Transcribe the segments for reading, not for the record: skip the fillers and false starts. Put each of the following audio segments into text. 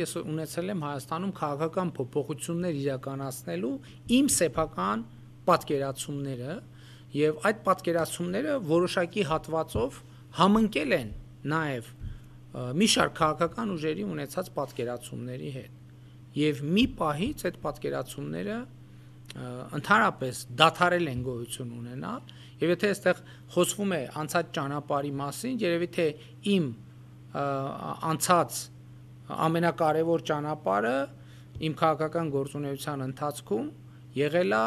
Ես ունեցել եմ Հայաստանում քաղաքական փոփոխություններ իրականացնելու իմ սեփական պատկերացումները եւ այդ պատկերացումները որոշակի հատվածով համընկել են նաեւ մի շարք քաղաքական ուժերի ունեցած պատկերացումների հետ եւ մի պահից այդ պատկերացումները ընդհանրապես դադարել են գոյություն ունենալ եւ եթե այստեղ խոսվում է անցած ճանապարհի մասին, երևի թե իմ անցած ամենակարևոր ճանապարհը իմ քաղաքական գործունեության ընթացքում եղել է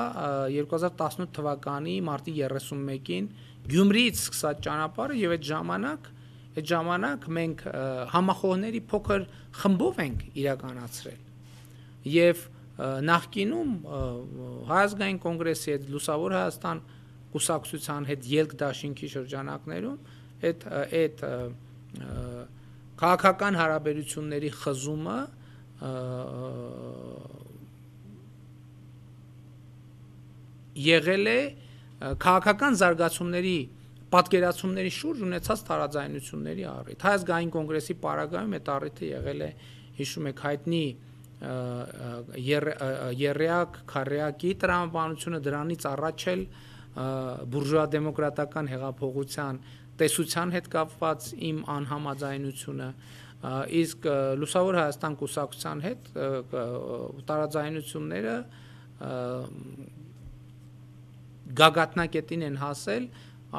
2018 թվականի մարտի 31-ին Գյումրիից սկսած ճանապարհը եւ այդ ժամանակ մենք համախոհների փոքր խմբով ենք իրականացրել եւ նախկինում Հայ ազգային կոնգրեսի հետ Լուսավոր Հայաստան կուսակցության հետ ելք դաշինքի շրջանակներում այդ քաղաքական հարաբերությունների խզումը եղել է քաղաքական զարգացումների պատկերացումների շուրջ ունեցած տարաձայնությունների առիթ։ Հայ ազգային կոնգրեսի պարագայում այդ առիթը եղել է, հիշում եք, հայտնի Եռյակ Քարյակի տրամաբանությունը, դրանից առաջ էլ բուրժուա դեմոկրատական հեղափոխության տեսության հետ կապված իմ անհամաձայնությունը, իսկ Լուսավոր Հայաստան կուսակցության հետ տարաձայնությունները գագաթնակետին են հասել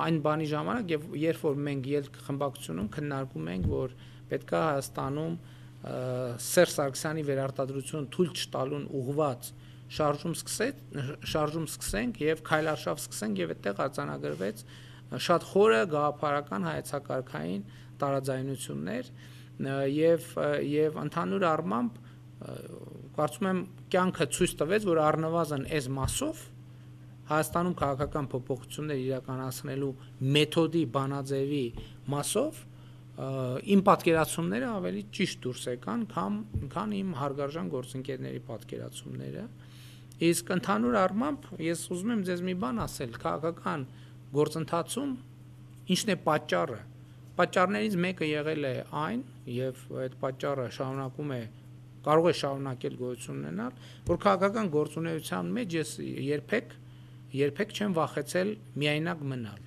այն բանի ժամանակ, երբ որ մենք ելք խմբակցությունում քննարկում ենք, որ պետք է Հայաստանում Սերժ Սարգսյանի վերարտադրությունը թույլ չտալուն ուղղված շարժում սկսենք եւ քայլարշավ սկսենք եւ այդտեղ արձանագրվեց շատ խորը գաղափարական հայեցակարգային տարաձայնություններ եւ ընդհանուր առմամբ կարծում եմ կյանքը ցույց տվեց, որ առնվազն այս մասով Հայաստանում քաղաքական փոփոխություններ իրականացնելու մեթոդի բանաձևի մասով իմ պատկերացումները ավելի ճիշտ դուրս եկան, քան իմ հարգարժան գործընկերների պատկերացումները, իսկ ընդհանուր առմամբ ես ուզում եմ ձեզ մի բան ասել, քաղաքական գործընթացում ինչն է պատճառը, պատճառներից մեկը եղել է այն, եւ այդ պատճառը կարող է շարունակել գոյություն ունենալ, որ քաղաքական գործունեության մեջ ես երբեք չեմ վախեցել միայնակ մնալ,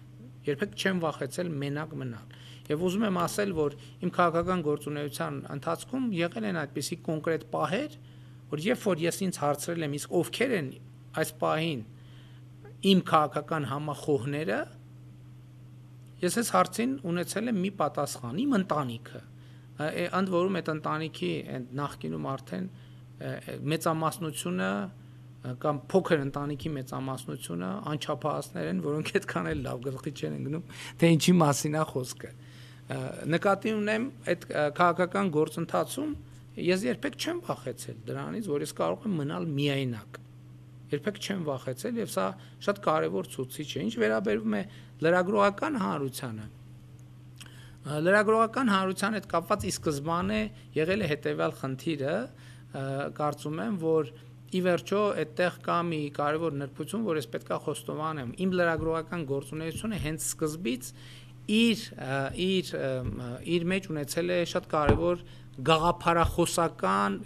երբեք չեմ վախեցել մենակ մնալ Եվ ուզում եմ ասել, որ իմ քաղաքական գործունեության ընթացքում եղել են այդպիսի կոնկրետ պահեր, որ երբ որ ես ինձ հարցրել եմ, իսկ ովքեր են այս պահին իմ քաղաքական համախոհները, ես այս հարցին ունեցել եմ մի պատասխան, իմ ընտանիքը, ընդ որում այդ ընտանիքի նախկինում արդեն մեծամասնությունը կամ փոքր ընտանիքի մեծամասնությունը անչափահասներ են, որոնք այդքան էլ լավ գլխի չեն ընկնում, թե ինչի մասին է խոսքը։ Նկատի ունեմ այդ քաղաքական գործընթացում ես երբեք չեմ վախեցել դրանից, որ ես կարող եմ մնալ միայնակ։ Երբեք չեմ վախեցել եւ սա շատ կարեւոր ցուցիչ է։ Ինչ վերաբերում է լրագրողական հանրությանը։ Լրագրողական հանրության հետ կապված ի սկզբանե եղել է հետեւյալ խնդիրը, կարծում եմ, որ ի վերջո այդտեղ կա մի կարևոր նրբություն, որ ես պետքա խոստովանեմ։ Իմ լրագրողական գործունեությունը հենց սկզբից իր մեջ ունեցել է շատ կարևոր գաղափարախոսական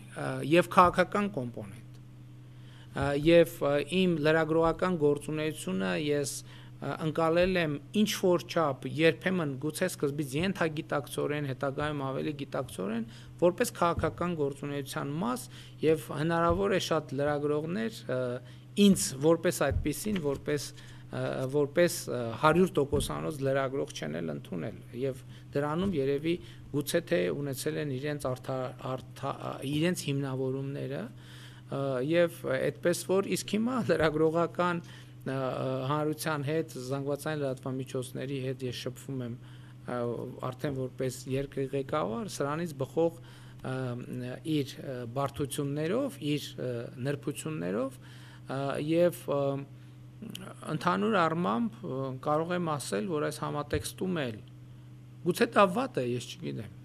եւ քաղաքական կոմպոնենտ։ Եվ իմ լրագրողական գործունեությունը ես ընկալել եմ ինչ որ չափ երբեմն գուցե սկզբից ենթագիտակցորեն, հետագայում ավելի գիտակցորեն, որպես քաղաքական գործունեության մաս եւ հնարավոր է շատ լրագրողներ ինձ որպես այդպիսին, որպես 100%-անոց լրագրող չեն էլ ընդունել եւ դրանում երևի գուցե թե ունեցել են իրենց հիմնավորումները եւ այդպես որ իսկ հիմա լրագրողական հանրության հետ, զանգվածային լրատվամիջոցների հետ ես շփվում եմ արդեն որպես երկրի ղեկավար, սրանից բխող իր բարդություններով, իր նրբություններով եւ ընդհանուր առմամբ կարող եմ ասել, որ այս համատեքստում էլ գուցե դա վատ է, ես չգիտեմ,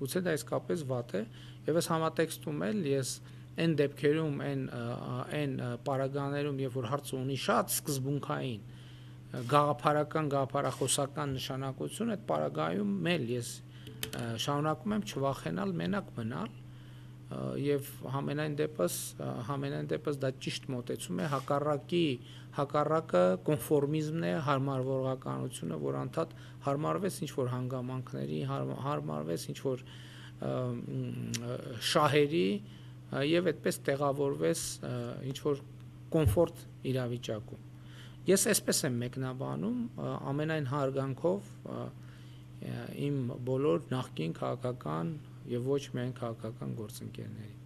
գուցե դա իսկապես վատ է եւ այս համատեքստում էլ ես այն դեպքերում, այն պարագաներում, երբ որ հարցը ունի շատ սկզբունքային գաղափարախոսական նշանակություն, այդ պարագայում էլ ես շարունակում եմ չվախենալ մենակ մնալ եւ համենայն դեպս դա ճիշտ մոտեցում է, հակառակը կոնֆորմիզմն է, հարմարվողականությունը, որ անդադ հարմարվես ինչ որ հանգամանքների, հարմարվես ինչ որ շահերի եւ այդպես տեղավորվես ինչ որ կոմֆորտ իրավիճակում։ Ես այսպես եմ մեկնաբանում ամենայն հարգանքով իմ բոլոր նախկին քաղաքական եւ ոչ միայն քաղաքական գործընկերների